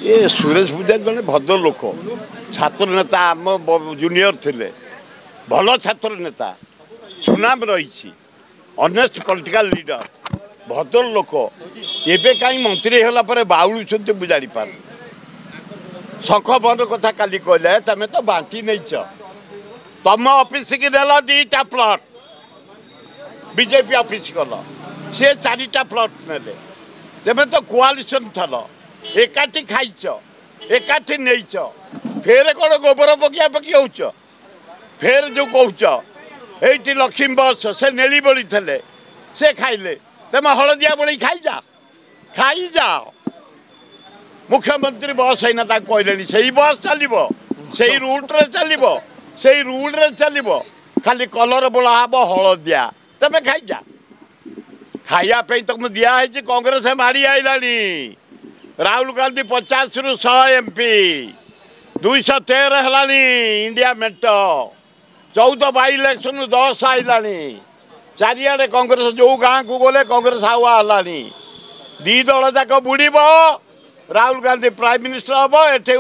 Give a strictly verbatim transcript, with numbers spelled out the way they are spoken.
ଏ ସୁରେଶ ପୂଜାରୀ ଜଣେ ଭଦ୍ର ଲୋକ, ଛାତ୍ର ନେତା, ଆମ ଜୁନିୟର ଥିଲେ, ଭଲ ଛାତ୍ର ନେତା, ସୁନାମ ରହିଛି, ଅନେଷ୍ଟ ପଲିଟିକାଲ ଲିଡର, ଭଦ୍ର ଲୋକ। ଏବେ କାହିଁ ମନ୍ତ୍ରୀ ହେଲା ପରେ ବାଉଳୁଛନ୍ତି ମୁଁ ଜାଣିପାରୁନି। ଶଙ୍ଖ ବନ୍ଦ କଥା କାଲି କହିଲେ, ତମେ ତ ବାଣ୍ଟି ନେଇଛ, ତମ ଅଫିସକି ନେଲ ଦୁଇଟା ପ୍ଲଟ୍, ବିଜେପି ଅଫିସ ଗଲ, ସେ ଚାରିଟା ପ୍ଲଟ୍ ନେଲେ। ତେବେ ତ କୋଆଲିସନ୍ ଥଲ, ଏକାଠି ଖାଇଛ, ଏକାଠି ନେଇଛ, ଫେର କ'ଣ ଗୋବର ପକିଆ ପକି ହେଉଛ? ଫେର ଯେଉଁ କହୁଛ ଏଇଠି ଲକ୍ଷ୍ମୀ ବସ୍, ସେ ନେଳି ବଳି ଥିଲେ, ସେ ଖାଇଲେ, ତମେ ହଳଦିଆ ବଳି ଖାଇଯା, ଖାଇଯାଅ। ମୁଖ୍ୟମନ୍ତ୍ରୀ ବସ୍ ହେଇନା ତାକୁ କହିଲେଣି, ସେଇ ବସ୍ ଚାଲିବ, ସେଇ ରୁଟ୍ରେ ଚାଲିବ, ସେଇ ରୁଟ୍ରେ ଚାଲିବ, ଖାଲି କଲର ବୋଳା ହବ ହଳଦିଆ, ତମେ ଖାଇଯା। ଖାଇବା ପାଇଁ ତମକୁ ଦିଆହେଇଛି। କଂଗ୍ରେସ ମାଡ଼ି ଆଇଲାଣି, ରାହୁଲ ଗାନ୍ଧୀ ପଚାଶରୁ ଶହେ ଏମ୍ ପି, ଦୁଇଶହ ତେର ହେଲାଣି ଇଣ୍ଡିଆ ମେଣ୍ଟ, ଚଉଦ ବାଇ ଇଲେକ୍ସନ ଦଶ ଆଇଲାଣି। ଚାରିଆଡ଼େ କଂଗ୍ରେସ, ଯେଉଁ ଗାଁକୁ ଗଲେ କଂଗ୍ରେସ ହାୱା ହେଲାଣି। ଦୁଇ ଦଳ ଯାକ ବୁଡ଼ିବ, ରାହୁଲ ଗାନ୍ଧୀ ପ୍ରାଇମ୍ ମିନିଷ୍ଟର ହବ ଏଠି।